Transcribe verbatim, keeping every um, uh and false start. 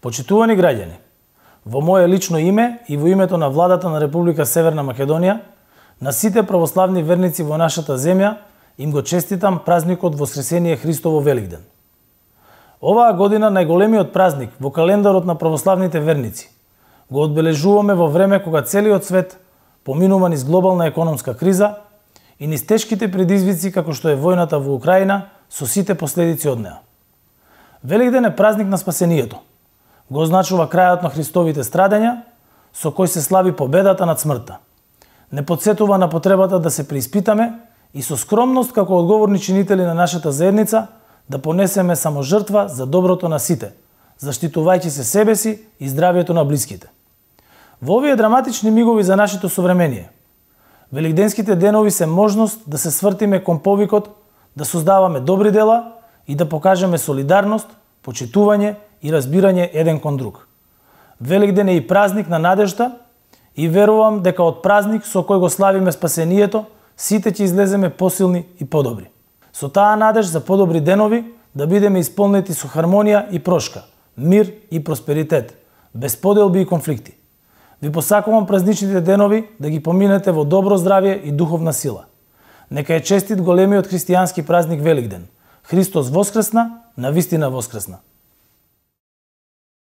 Почитувани граѓани, во мое лично име и во името на владата на Република Северна Македонија, на сите православни верници во нашата земја им го честитам празникот Воскресение Христово Великден. Оваа година најголемиот празник во календарот на православните верници го одбележуваме во време кога целиот свет поминува низ глобална економска криза и низ тешките предизвици како што е војната во Украина со сите последици од неа. Великден е празник на спасението. Го означува крајот на Христовите страдања, со кој се слави победата над смртта. Не потсетува на потребата да се преиспитаме и со скромност како одговорни чинители на нашата заедница да понесеме само жртва за доброто на сите, заштитувајќи се себе си и здравието на блиските. Во овие драматични мигови за нашето современие, великденските денови се можност да се свртиме кон повикот да создаваме добри дела и да покажеме солидарност, почитување и разбирање еден кон друг. Великден е и празник на надежда и верувам дека од празник со кој го славиме спасението, сите ќе излеземе посилни и подобри. Со таа надеж за подобри денови да бидеме исполнети со хармонија и прошка, мир и просперитет, без поделби и конфликти. Ви посакувам празничните денови да ги поминете во добро здравје и духовна сила. Нека е честит големиот христијански празник Великден. Христос воскресна, навистина воскресна.